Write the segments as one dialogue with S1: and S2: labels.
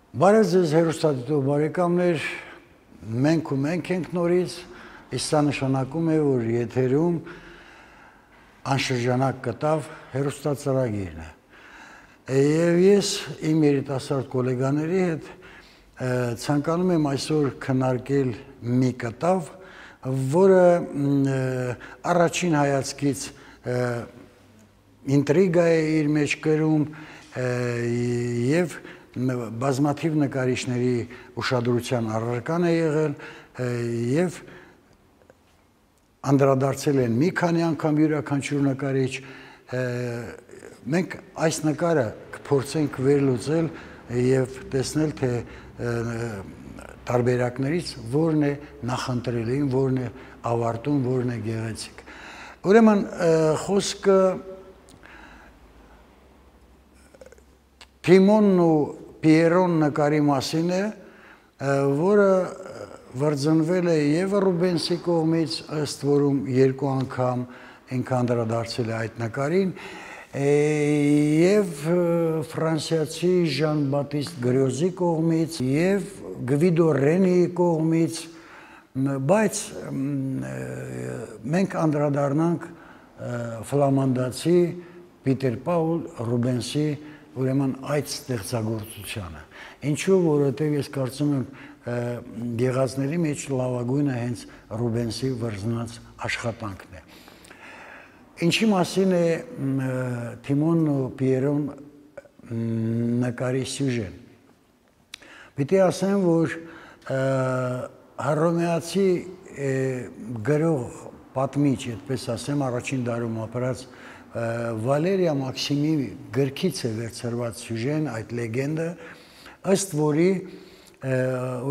S1: Բարև ձեզ հեռուստադիտող բարեկամներ, մենք ու մենք ենք նորից, իսկ սա նշանակում է, որ եթերում անշրջանակ կտավ հեռուստածրագիրն է։ Եվ ես իմ երիտասարդ գոլեգաների հետ ցանկանում եմ այսօր քննարկել մի կտավ, որը առաջին հայացքից ինտրիգա է իր մեջ կրում եւ բազմաթիվ նկարիչների ուշադրության առարկան է եղել եւ անդրադարձել են մի քանի անգամ յուրաքանչյուր նկարիչ մենք այս նկարը կփորձենք վերլուծել եւ տեսնել թե տարբերակներից որն է նախընտրելին, որն է ավարտուն, որն է գեղեցիկ։ Ուրեմն խոսքը Թիմոնն ու Պիերոն նկարի մասին է, որը վրձնվել է եւ Ռուբենսի կողմից, ըստ որում երկու անգամ ինքը անդրադարձել է այդ նկարին, եւ ֆրանսիացի Ժան Բատիստ Գրյոզի կողմից եւ Գվիդո Ռենիի կողմից, բայց մենք անդրադառնանք ֆլամանդացի Պիտեր Պաուլ Ռուբենսի ուրեմն այդ ստեղծագործությանը։ Ինչու, որովհետև ես կարծում եմ գեղածների մեջ լավագույնը հենց Ռուբենսի վրձնած աշխատանքն է։ Ինչի մասին է Թիմոնն ու Պիերոն նկարի սյուժեն։ Պիտի ասեմ, որ հռոմեացի գրող պատմիչ, այդպես ասեմ, առաջին դարում ապրած Վալերիա Մաքսիմի գրքից է վերցրված սյուժեն, այդ լեգենդը, ըստ որի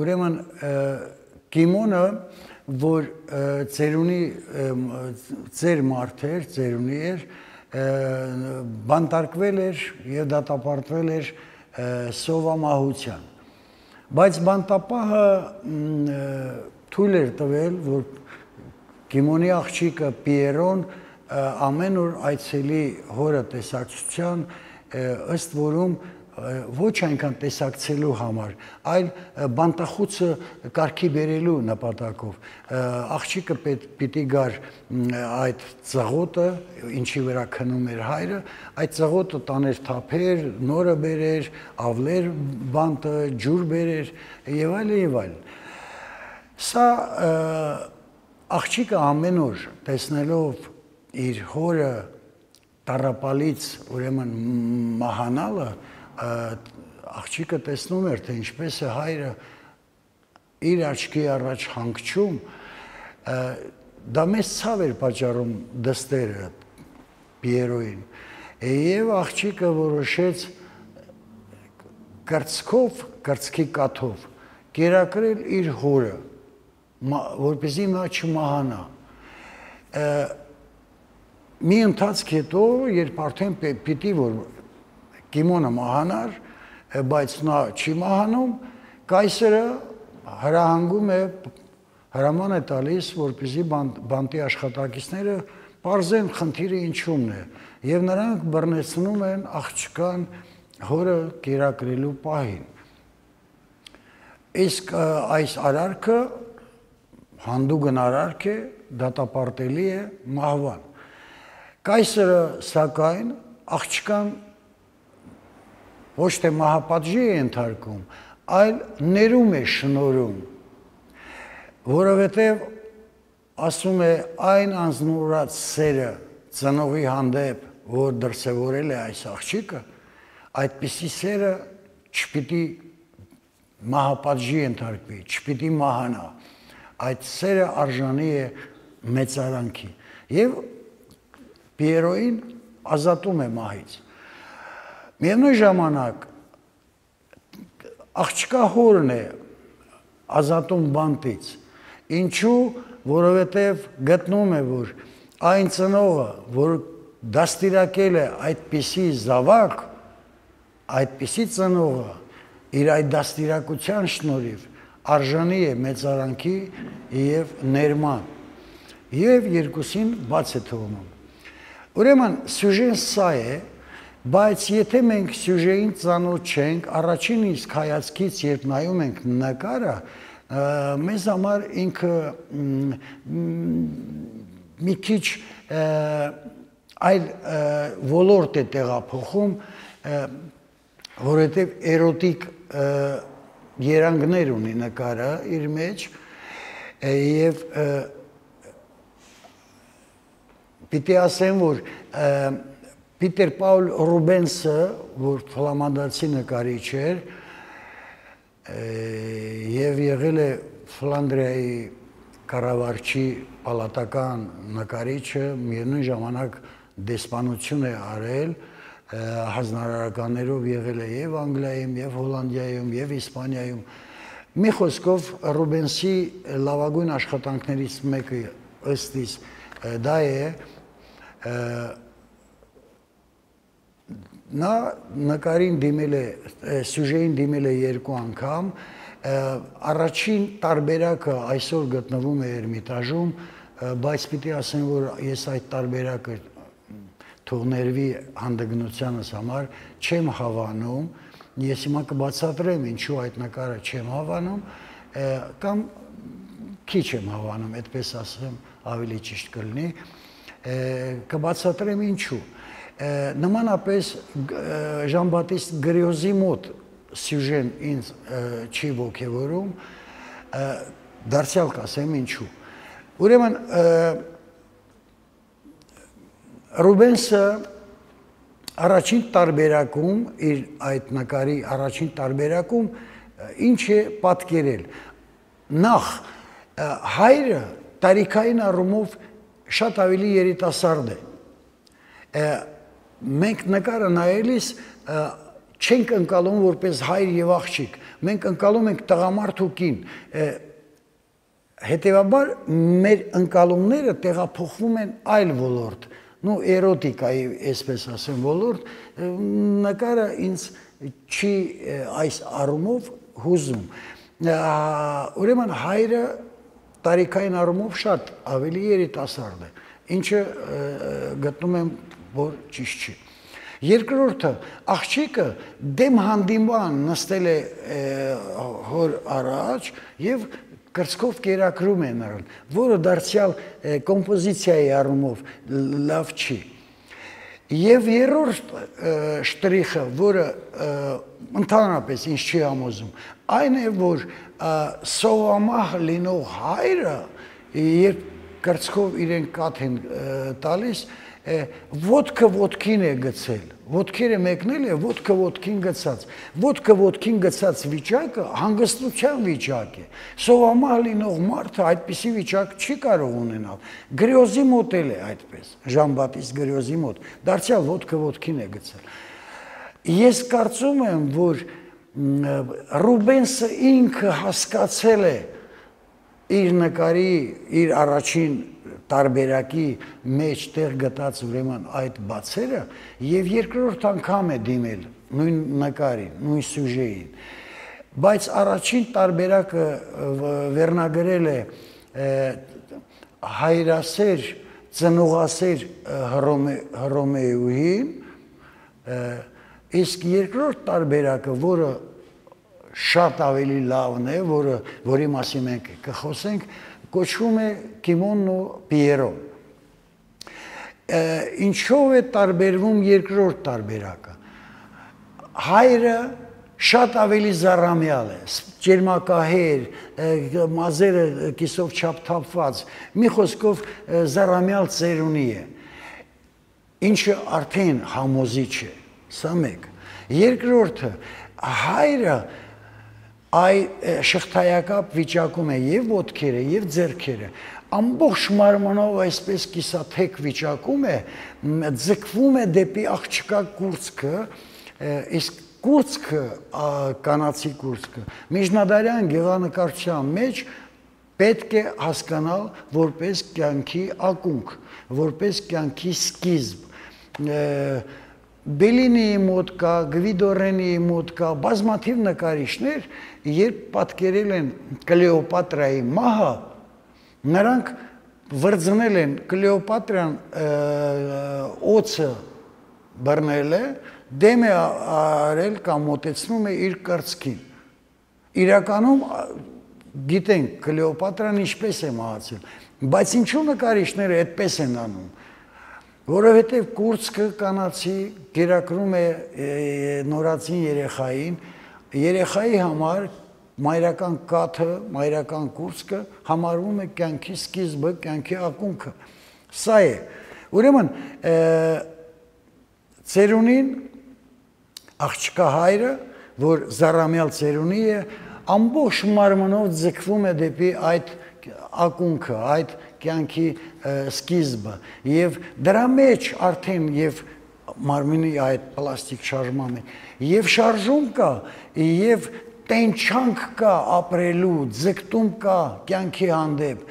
S1: ուրեմն Կիմոնը, որ ծեր մարդ էր, ծերունի էր, բանտարկվել էր եւ դատապարտվել էր սովամահության։ Բայց բանտապահը թույլ էր տվել, որ Կիմոնի աղջիկը Պիերոն ամեն օր այցելի հորը տեսակցության, ըստ որում ոչ այնքան տեսակցելու համար, այլ բանտախուցը կարգի բերելու նպատակով։ Աղջիկը պիտի գար այդ ծղոտը, ինչի վրա քնում էր հայրը, այդ ծղոտը տաներ թափեր, նորը բերեր, ավլեր բանտը, ջուր բերեր եւ այլն եւ այլն։ Սա աղջիկը ամեն օր տեսնելով իր հորը տառապալից ուրեմն մահանալը, աղջիկը տեսնում էր, թե ինչպես է հայրը իր աչքի առաջ հանգչում, դա մեծ ցավ էր պատճառում դստերը Պիերոին, եւ աղջիկը որոշեց կրծքի կաթով կերակրել իր հորը, որպեսզի նա չմահանա։ Մի ընթացք հետո, երբ արդեն պիտի որ Կիմոնը մահանար, բայց նա չի մահանում, կայսրը հրահանգում է, հրաման է տալիս, որպեսզի բանտի աշխատակիցները պարզեն խնդիրը ինչումն է, եւ նրանք բռնեցնում են աղջկան հորը կերակրելու պահին։ Իսկ այս արարքը հանդուգն արարք է, դատապարտելի է մահվան։ Կայսրը սակայն աղջկան ոչ թե մահապատժի է ենթարկում, այլ ներում է շնորհում, որովհետև ասում է այն անձնուրաց սերը ծնողի հանդեպ, որ դրսևորել է այս աղջիկը, այդպիսի սերը չպիտի մահապատժի ենթարկվի, չպիտի մահանա, այդ սերը արժանի է մեծարանքի եւ Պիերոին ազատում է մահից։ Միևնույն ժամանակ աղջկա հորն է ազատում բանտից, ինչու, որովհետև գտնում է, որ այն ծնողը, որ դաստիարակել է այդպիսի զավակ, այդպիսի ծնողը իր այդ դաստիարակության շնորհիվ արժանի է մեծարանքի եւ ներման եւ երկուսին բաց է թողնում։ Ուրեմն սյուժեն սա է, Բայց եթե մենք սյուժեին ծանոթ չենք, առաջին իսկ հայացքից երբ նայում ենք նկարը, մեզ համար ինքը մի քիչ այլ ոլորտ է տեղափոխում, որովհետև էրոտիկ երանգներ ունի նկարը իր մեջ եւ պիտի ասեմ, որ Պիտեր Պաուլ Ռուբենսը, որ ֆլամանդացի նկարիչ էր եւ եղել է Ֆլանդրիայի կառավարչի պալատական նկարիչը, միևնույն ժամանակ դեսպանություն է արել, հանրարարականներով եղել է եւ Անգլիայում, եւ Հոլանդիայում, եւ Իսպանիայում։ Մի խոսքով Ռուբենսի լավագույն աշխատանքներից մեկը ըստ իս դա է նա նկարին դիմել է, սյուժեին դիմել է 2 անգամ, առաջին տարբերակը այսօր գտնվում է Էրմիտաժում, բայց պիտի ասեմ, որ ես այդ տարբերակը թող ներվի հանդգնությանս համար չեմ հավանում, ես հիմա կբացատրեմ ինչու այդ նկարը չեմ հավանում, կամ քիչ եմ հավանում, այդպես ասեմ, ավելի ճիշտ կլինի, կբացատրեմ ինչու։ Նմանապես Ժան-Բատիստ Գրիոզի մոտ սյուժեն ինձ չի ոգևորում, դարձյալ կասեմ ինչու։ Ուրեմն Ռուբենսը առաջին տարբերակում, իր այդ նկարի առաջին տարբերակում ինչ է պատկերել։ Նախ հայրը տարիքային առումով շատ ավելի երիտասարդ է։ Մենք նկարը նայելիս չենք ընկալում որպես հայր եւ աղջիկ, մենք ընկալում ենք տղամարդ ու կին, հետեւաբար մեր ընկալումները տեղափոխվում են այլ ոլորտ, նու էրոտիկայի, այսպես ասեմ, ոլորտ, նկարը ինձ չի այս առումով հուզում։ Ուրեմն հայրը տարիքային առումով շատ ավելի երիտասարդ է, ինչը գտնում եմ որ ճիշտ չի։ Երկրորդը, աղջիկը դեմ հանդիման նստել է հոր առաջ եւ կրծքով կերակրում է նրան, որը դարձյալ կոմպոզիցիայի առումով լավ չի։ Եվ երրորդ շտրիխը, որը ընդհանրապես ինձ չի համոզում, այն է, որ սովամահ լինող հայրը, երբ կրծքով իրեն կաթ են տալիս, ոտքը ոտքին է գցել, ոտքերը մեկնել է, ոտքը ոտքին գցած, ոտքը ոտքին գցած վիճակը հանգստության վիճակ է, սովամահ լինող մարդը այդպիսի վիճակ չի կարող ունենալ, Գրիոզի մոտ էլ է այդպես, Ժան-Բատիստ Գրիոզի մոտ, դարձյալ ոտքը ոտքին է գցել։ Ես կարծում եմ, որ Ռուբենսը ինքը հասկացել է իր նկարի, իր առաջին տարբերակի մեջ տեղ գտած ուրեմն այդ բացերը եւ երկրորդ անգամ է դիմել նույն նկարին, նույն սյուժեին։ Բայց առաջին տարբերակը վերնագրել է հայրասեր, ծնողասեր Հռոմեուհին, իսկ երկրորդ տարբերակը, որը շատ ավելի լավն է, որի մասին մենք կխոսենք, կոչվում է Կիմոնն ու Պիերոն։ Ինչով է տարբերվում երկրորդ տարբերակը։ Հայրը շատ ավելի զառամյալ է, ջերմակահեր, մազերը կիսով չափթափված, մի խոսքով զառամյալ ծերունի է, ինչը արդեն համոզիչ է, սա մեկ։ Երկրորդը, հայրը այ շղթայակապ վիճակում է եւ ոտքերը եւ ձեռքերը, ամբողջ մարմնով այսպես կիսաթեք վիճակում է, ձգվում է դեպի աղջկա կուրծքը, իսկ կուրծքը, կանացի կուրծքը, միջնադարյան գեղանկարչության մեջ պետք է հասկանալ որպես կյանքի ակունք, որպես կյանքի սկիզբ։ Բելինիի մոտ կա, Գվիդո մոտ կա, բազմաթիվ նկարիչներ, երբ պատկերել են Կլեոպատրայի մահը, նրանք վրձնել են Կլեոպատրան օձը բռնել է, դեմ է արել կամ մոտեցնում է իր կրծքին։ Իրականում գիտենք Կլեոպատրան ինչպես է մահացել, բայց ինչու նկարիչները այդպես են անում, որովհետև կուրծքը կանացի կերակրում է նորածին երեխային, երեխայի համար մայրական կաթը, մայրական կուրծքը համարվում է կյանքի սկիզբը, կյանքի ակունքը։ Սա է։ Ուրեմն ծերունին աղջկա հայրը, որ զառամյալ ծերունի է, ամբողջ մարմնով ձգվում է դեպի այդ ակունքը, այդ կյանքի սկիզբը, եւ դրա մեջ արդեն եւ մարմինի այդ պլաստիկ շարժման եւ շարժում կա, եւ տենչանք կա ապրելու, ձգտում կա կյանքի հանդեպ,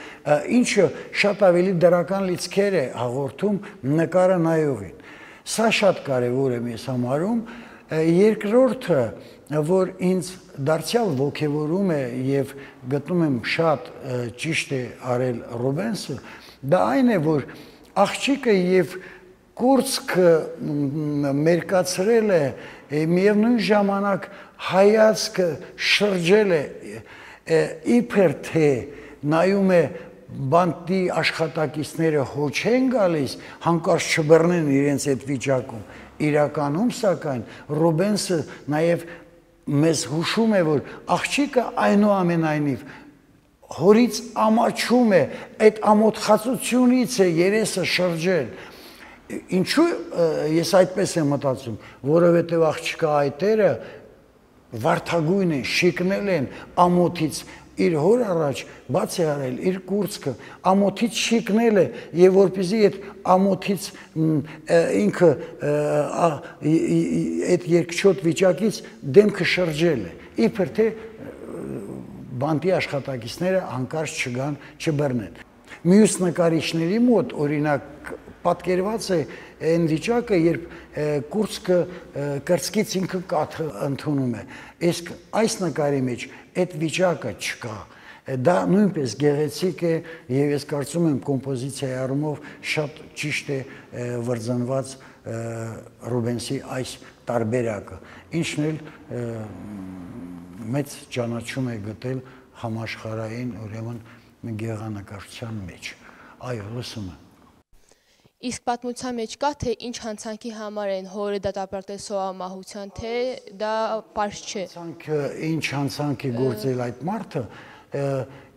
S1: ինչը շատ ավելի դրական լիցքեր է հաղորդում նկարը նայողին։ Սա շատ կարևոր է մեզ համարում։ Երկրորդը, որ ինձ դարձյալ ոգևորում է եւ գտնում եմ շատ ճիշտ է արել Ռուբենսը, դա այն է, որ աղջիկը եւ կուրծքը մերկացրել է, միևնույն ժամանակ հայացքը շրջել է, իբր թե նայում է բանտի աշխատակիցները հոչ են գալիս, հանկարծ չբռնեն իրենց այդ վիճակում, իրականում սակայն Ռուբենսը նաև մեզ հուշում է, որ աղջիկը այնուամենայնիվ հորից ամաչում է, այդ ամոթխածությունից է երեսը շրջել։ Ինչու ես այդպես եմ մտածում, որովհետև աղջկա այտերը վարդագույն են, շիկնել են ամոթից, իր հոր առաջ բաց է արել իր կուրծքը, ամոթից շիկնել է եւ որպեսզի այդ ամոթից ինքը այդ երկչոտ վիճակից դեմքը շրջել է, իբր թե բանտի աշխատակիցները հանկարծ չգան, չբռնեն։ Մյուս նկարիչների մոտ օրինակ պատկերված է այն վիճակը, երբ կուրծքը կրծքից ինքը կաթը ընդունում է, իսկ այս նկարի մեջ այդ վիճակը չկա, դա նույնպես գեղեցիկ է եւ ես կարծում եմ կոմպոզիցիայի առումով շատ ճիշտ է վրձնված Ռուբենսի այս տարբերակը, ինչն էլ մեծ ճանաչում է գտել համաշխարհային ուրեմն գեղանկարչության մեջ։ Այո, լսում եմ։
S2: Իսկ պատմության մեջ կա, թե ինչ հանցանքի համար են հորը դատապարտել սովամահության, թե դա պարզ չէ։
S1: Ինչ հանցանք է գործել այդ մարդը,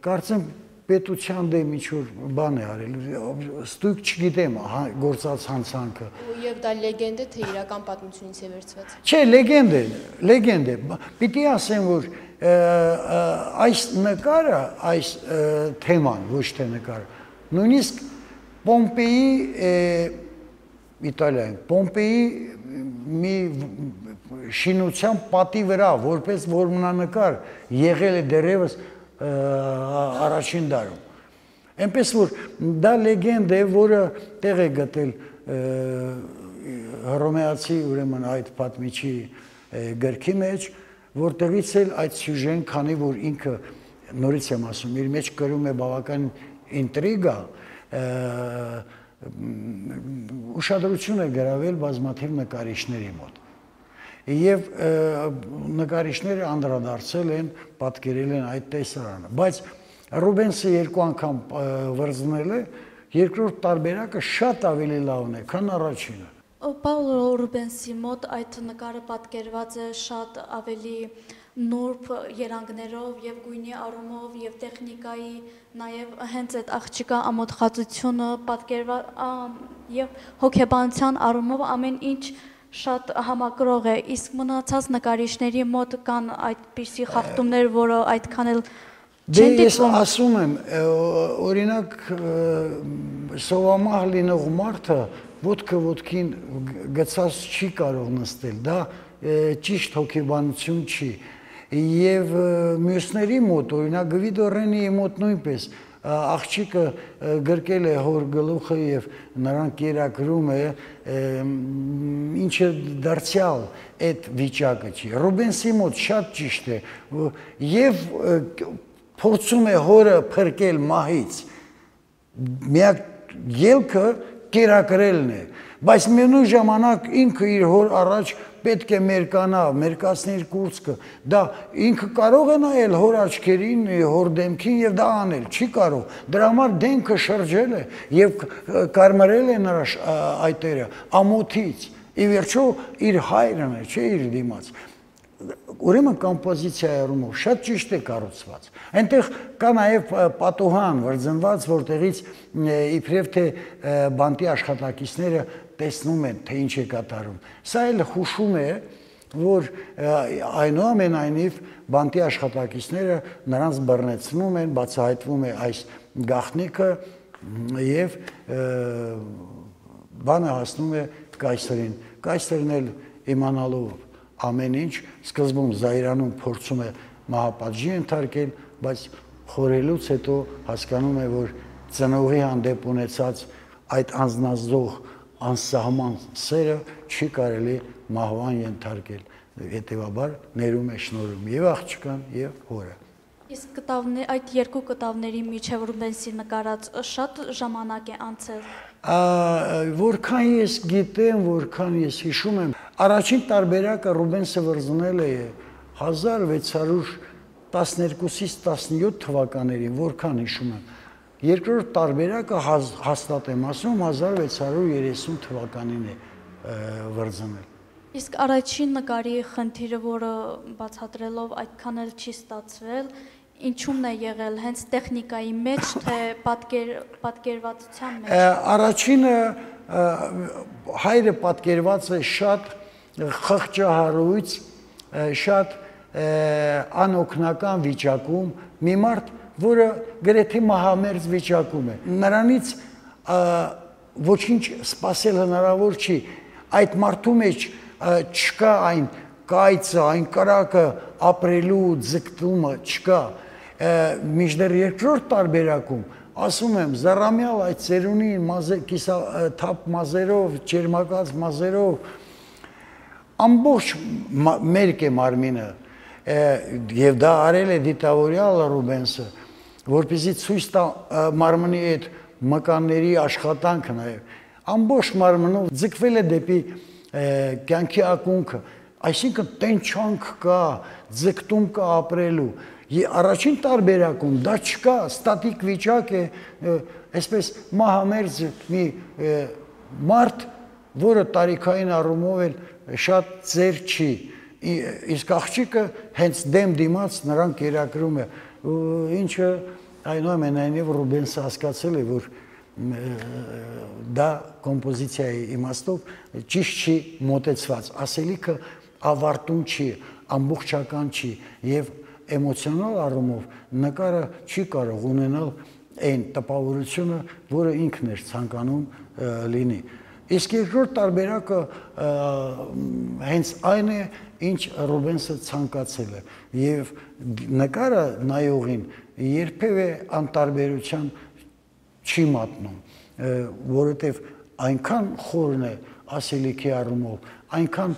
S1: կարծեմ պետության դեմ ինչ-որ բան է արել, ստույգ չգիտեմ գործած հանցանքը։
S2: Եվ դա լեգենդ է, թե իրական պատմությունից է վերցված։
S1: Չէ, լեգենդ է։ Պիտի ասեմ, որ այս նկարը, այս թեման, ոչ թե նկարը, նույնիսկ Պոմպեի Իտալիայում, Պոմպեի մի շինության պատի վրա, որպես որմնանկար եղել է դեռևս առաջին դարում։ Այնպես որ դա լեգենդ է, որը տեղ է գտել հռոմեացի ուրեմն այդ պատմիչի գրքի մեջ, որտեղից էլ այդ սյուժեն, քանի որ ինքը նորից եմ ասում, իր մեջ կրում է բավական ինտրիգա, ուշադրություն է գրավել բազմաթիվ նկարիչների մոտ եւ նկարիչները անդրադարձել են, պատկերել են այդ տեսարանը, բայց Ռուբենսը երկու անգամ վրձնել է, երկրորդ տարբերակը շատ ավելի լավն է, քան առաջինը։
S3: Պաուլո Ռուբենսի մոտ այդ նկարը պատկերված է շատ ավելի նուրբ երանգներով եւ գույնի առումով եւ տեխնիկայի նաեւ հենց այդ աղջիկա ամոթխածությունը պատկերված եւ հոգեբանության առումով ամեն ինչ շատ համակրող է, իսկ մնացած նկարիչների մոտ կան այդպիսի խախտումներ, որը այդքան էլ չեն
S1: դիտվում։ Ես ասում եմ, օրինակ սովամահ լինող մարդը ոտքը ոտքին գցած չի կարող նստել, դա ճիշտ հոգեբանություն չի։ Եվ մյուսների մոտ, օրինակ Գվիդո Ռենիի մոտ նույնպես աղջիկը գրկել է հոր գլուխը եւ նրան կերակրում է, ինչը դարձյալ այդ վիճակը չի։ Ռուբենսի մոտ շատ ճիշտ է եւ փորձում է հորը փրկել մահից։ Միակ ելքը կերակրելն է, Բայց միևնույն ժամանակ ինքը իր հոր առաջ պետք է մերկանա, մերկացնի իր կուրծքը, դա ինքը կարող է նայել հոր աչքերին, հոր դեմքին եւ դա անել, չի կարող, դրա համար դեմքը շրջել է եւ կարմրել է նրա այտերը ամոթից, ի վերջո իր հայրն է, չէ իր դիմաց, ուրեմն կոմպոզիցիայի առումով շատ ճիշտ է կառուցված, այնտեղ կա նաև պատուհան վրձնված, որտեղից իբրև թե բանտի աշխատակիցները տեսնում են, թե ինչ է կատարում, սա էլ հուշում է, որ այնուամենայնիվ բանտի աշխատակիցները նրանց բռնեցնում են, բացահայտվում է այս գաղտնիքը եւ բանը հասնում է կայսրին, կայսրն էլ իմանալով ամեն ինչ սկզբում զայրանում փորձում է մահապատժի ենթարկել, բայց խորելուց հետո հասկանում է, որ ծնողի հանդեպ ունեցած այդ անձնազոհ անսահման սերը չի կարելի մահվան ենթարկել, հետևաբար ներում է շնորհում եւ աղջկան եւ հորը։
S3: Իսկ այդ երկու կտավների միջև Ռուբենսի նկարած շատ ժամանակ է անցել։
S1: Որքան ես գիտեմ, որքան ես հիշում եմ, առաջին տարբերակը Ռուբենսը վրձնել է 1612-ից 17 թվականներին, որքան հիշում եմ, երկրորդ տարբերակը հաստատ եմ ասում 1630 թվականին է վրձնել։
S3: Իսկ առաջին նկարի խնդիրը, որը բացատրելով այդքան էլ չի ստացվել, ինչու՞մն է եղել, հենց տեխնիկայի մեջ, թե պատկերվածության մեջ։
S1: Առաջինը հայրը պատկերված է շատ խղճահարույց, շատ անօգնական վիճակում, մի մարդ, որը գրեթե մահամերձ վիճակում է։ Նրանից ոչինչ սպասել հնարավոր չի, այդ մարդու մեջ չկա այն կայծը, այն կրակը ապրելու ձգտումը չկա, մինչդեռ երկրորդ տարբերակում, ասում եմ, զառամյալ այդ ծերունի թափ մազերով, ճերմակած մազերով, ամբողջ մերկ է մարմինը, եւ դա արել է դիտավորյալ Ռուբենսը, որպեսզի ցույց տա մարմնի այդ մկանների աշխատանքը նաեւ, ամբողջ մարմնով ձգվել է դեպի կյանքի ակունքը, այսինքն տենչանք կա, ձգտում կա ապրելու, առաջին տարբերակում դա չկա, ստատիկ վիճակ է, այսպես մահամերձ մի մարդ, որը տարիքային առումով էլ շատ ծեր չի, իսկ աղջիկը հենց դեմ դիմաց նրան կերակրում է, ինչը այնուամենայնիվ Ռուբենսը հասկացել է, որ դա կոմպոզիցիայի իմաստով ճիշտ չի մոտեցված, ասելիքը ավարտուն չի, ամբողջական չի եւ էմոցիոնալ առումով նկարը չի կարող ունենալ այն տպավորությունը, որը ինքն էր ցանկանում լինի։ Իսկ երկրորդ տարբերակը հենց այն է, ինչ Ռուբենսը ցանկացել է եւ նկարը նայողին երբևէ անտարբերության չի մատնում, որովհետեւ այնքան խորն է ասելիքի առումով, այնքան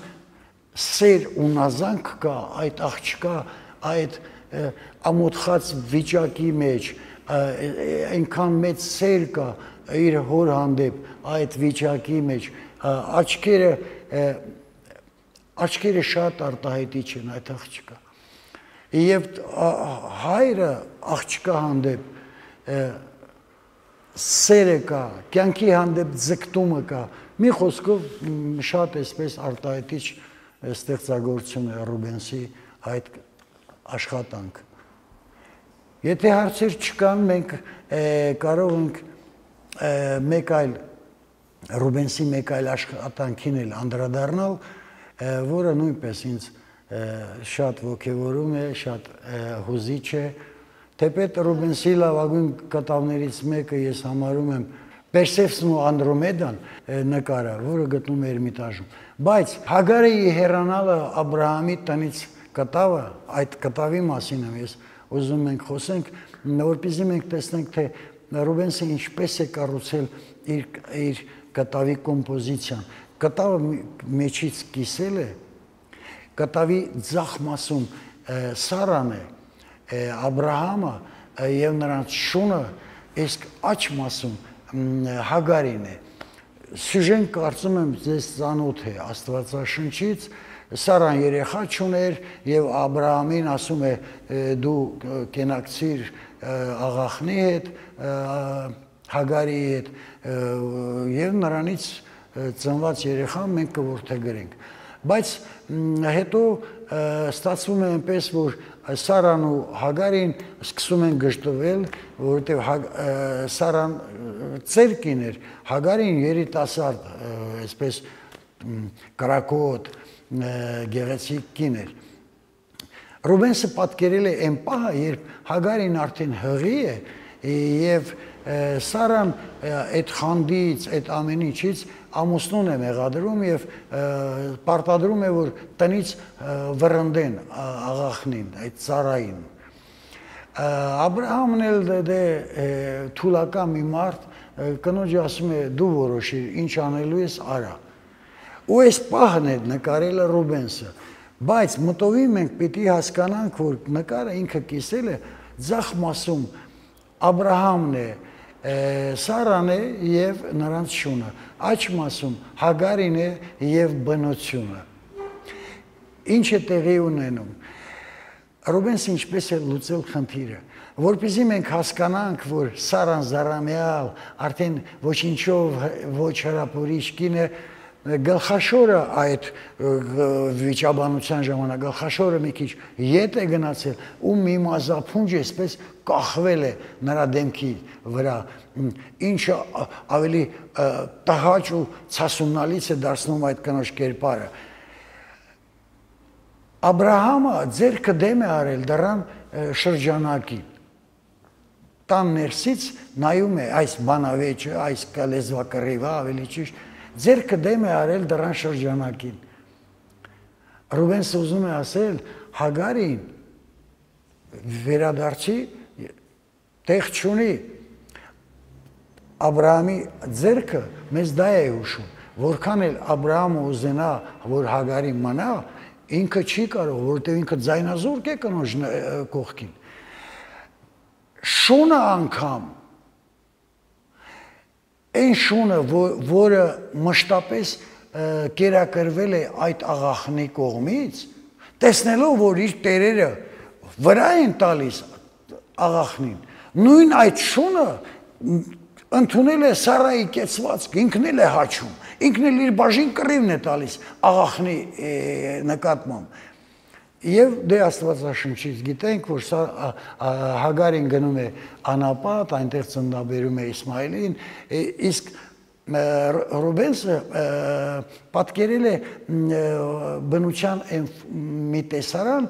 S1: սեր ու նազանք կա այդ աղջկա այդ ամոթխած վիճակի մեջ, այնքան մեծ սեր կա իր հոր հանդեպ այդ վիճակի մեջ, աչքերը շատ արտահայտիչ են այդ աղջկա։ Եվ հայրը աղջկա հանդեպ սերը կա, կյանքի հանդեպ ձգտումը կա, մի խոսքով շատ այսպես արտահայտիչ ստեղծագործություն է Ռուբենսի այդ աշխատանք։ Եթե հարցեր չկան, մենք կարող ենք մեկ այլ Ռուբենսի մեկ այլ աշխատանքին էլ անդրադառնալ, որը նույնպես ինձ շատ ոգևորում է, շատ հուզիչ է, թեպետ Ռուբենսի լավագույն կտավներից մեկը ես համարում եմ Պերսեֆսն ու Անդրոմեդան նկարը, որը գտնում է Էրմիտաժում, բայց Հագարեի հեռանալը Աբրահամի տնից կտավը, այդ կտավի մասին եմ ես ուզում ենք խոսենք, որպեսզի մենք տեսնենք, թե Ռուբենսը ինչպես է կառուցել իր կտավի կոմպոզիցիան։ Կտավը մեջից կիսել է, կտավի ձախ մասում Սարան է, Աբրահամը եւ նրանց շունը, իսկ աջ մասում Հագարին է։ Սյուժեն կարծում եմ ձեզ ծանոթ է Աստվածաշնչից, Սարան երեխա չուներ եւ Աբրահամին ասում է դու կենակցիր աղախնի հետ, Հագարի հետ եւ նրանից ծնված երեխան մենք կորթեգրենք։ Բայց հետո ստացվում է այնպես, որ Սարան ու Հագարին սկսում են գժտվել, որովհետև Սարան ծեր կին էր, Հագարին երիտասարդ, այսպես կրակոտ, գեղեցիկ կին էր։ Ռուբենսը պատկերել է այն պահը, երբ Հագարին արդեն հղի է եւ Սարան այդ խանդից, այդ ամեն ինչից ամուսնուն է մեղադրում եւ պարտադրում է, որ տնից վռնդեն աղախնին, այդ Սարային։ Աբրահամն էլ թուլական մի մարդ կնոջը ասում է դու որոշիր, ինչ անելու ես արա։ Ու այս պահն է նկարել Ռուբենսը, բայց մտովի մենք պիտի հասկանանք, որ նկարը ինքը կիսել է ձախ մասում Աբրահամն է, Սարան է եւ նրանց շունը, աջ մասում Հագարին է եւ բնությունը։ Ինչ է տեղի ունենում։ Ռուբենսը ինչպես է լուծել խնդիրը, որպեսզի մենք հասկանանք, որ Սարան զարամյալ, արդեն ոչինչով ոչ հրապուրիչ կին է, գլխաշորը այդ վիճաբանության ժամանակ գլխաշորը մի քիչ ետ է գնացել ու մի մազափունջ այսպես կախվել է նրա դեմքի վրա, ինչը ավելի տհաճ ու ցասունալից է դարձնում այդ կնոջ կերպարը։ Աբրահամը ձեռքը դեմ է արել դրան շրջանակին, տան ներսից նայում է այս բանավեճը, այս լեզվակռիվը ավելի ճիշտ, ձեռքը դեմ է արել դրան շրջանակին։ Ռուբենսը ուզում է ասել Հագարին վերադարձի տեղ չունի, Աբրահամի ձեռքը մեզ դա է հուշում, որքան էլ Աբրահամը ուզենա, որ Հագարին մնա, ինքը չի կարող, որովհետև ինքը ձայնազուրկ է կնոջ կողքին։ Շունը անգամ այն շունը, որը մշտապես կերակրվել է այդ աղախնի կողմից, տեսնելով, որ իր տերերը վրա են տալիս աղախնին, նույն այդ շունը ընդունել է Սարայի կեցվածք, ինքն էլ է հաչում, ինքն էլ իր բաժին կռիվն է տալիս աղախնի նկատմամբ։ Եվ դե Աստվածաշնչից գիտենք, որ Հագարին գնում է անապատ, այնտեղ ծննդաբերում է Իսմայելին, իսկ Ռուբենսը պատկերել է բնության մի տեսարան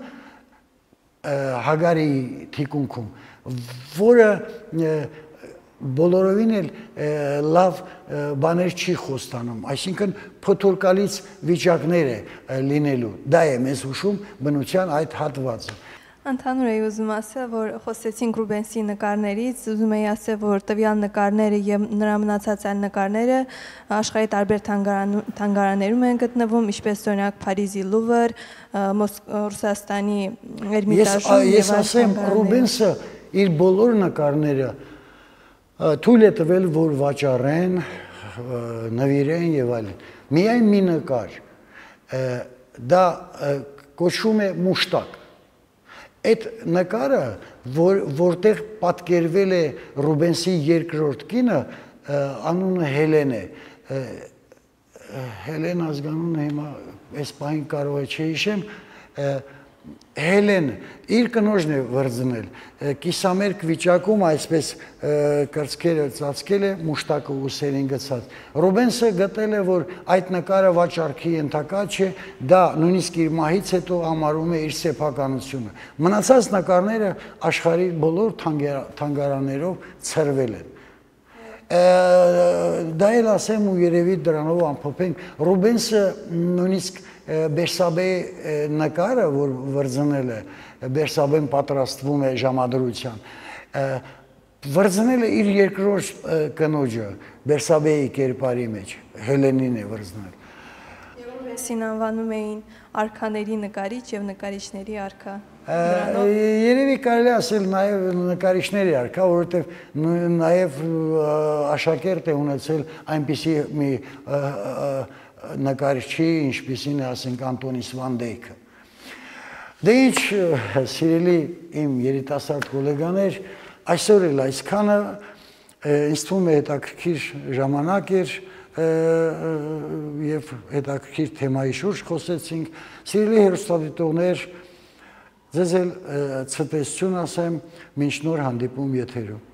S1: Հագարի թիկունքում, որը բոլորովին էլ լավ բաներ չի խոստանում, այսինքն փոթորկալից վիճակներ է լինելու, դա է մեզ հուշում բնության այդ հատվածը։
S4: Ընդհանուր էի ուզում ասել, որ խոսեցինք Ռուբենսի նկարներից, ուզում էի ասել, որ տվյալ նկարները եւ նրա մնացած այլ նկարները աշխարհի տարբեր թանգարաններում են գտնվում, ինչպես օրինակ Փարիզի Լուվր, Ռուսաստանի Էրմիտաժում։ Ես ասեմ, Ռուբենսը
S1: իր բոլոր նկարները թույլ է տվել, որ վաճառեն, նվիրեն եւ այլն։ Միայն մի նկար, դա կոչվում է մուշտակ։ Այդ նկարը, որտեղ պատկերվել է Ռուբենսի երկրորդ կինը, անունը Հելեն է։ Հելեն ազգանունը հիմա այս պահին կարող է չհիշեմ, Հելեն իր կնոջն է վրձնել, կիսամերկ վիճակում այսպես կրծքերը ծածկել է, մուշտակը ուսերին գցած։ Ռուբենսը գտել է, որ այդ նկարը վաճառքի ենթակա չէ, դա նույնիսկ իր մահից հետո համարում է իր սեփականությունը։ Մնացած նկարները աշխարհի բոլոր թանգարաններով ցրվել են։ Դա էլ ասեմ ու երևի դրանով ամփոփենք, Ռուբենսը նույնիսկ Բերսաբեի նկարը, որ վրձնել է, Բերսաբեն պատրաստվում է ժամադրության, վրձնել է իր երկրորդ կնոջը, Բերսաբեի կերպարի մեջ, Հելենին է վրձնել։
S4: Սին անվանում էին արքաների նկարիչ եւ նկարիչների արքա։
S1: Երևի կարելի ասել նաև նկարիչների արքա, որովհետև նաև աշակերտ է ունեցել այնպիսի մի նկարիչի, ինչպիսին է, ասենք, Անտոնիս Վան Դեյքը։ Դե ինչ, սիրելի իմ երիտասարդ գոլեգաներ, այսօր էլ այսքանը, ինձ թվում է հետաքրքիր ժամանակ էր և հետաքրքիր թեմայի շուրջ խոսեցինք, սիրելի հեռուստադիտողներ, ձեզ էլ ցտեսություն ասեմ, մինչ նոր հանդիպում եթերում։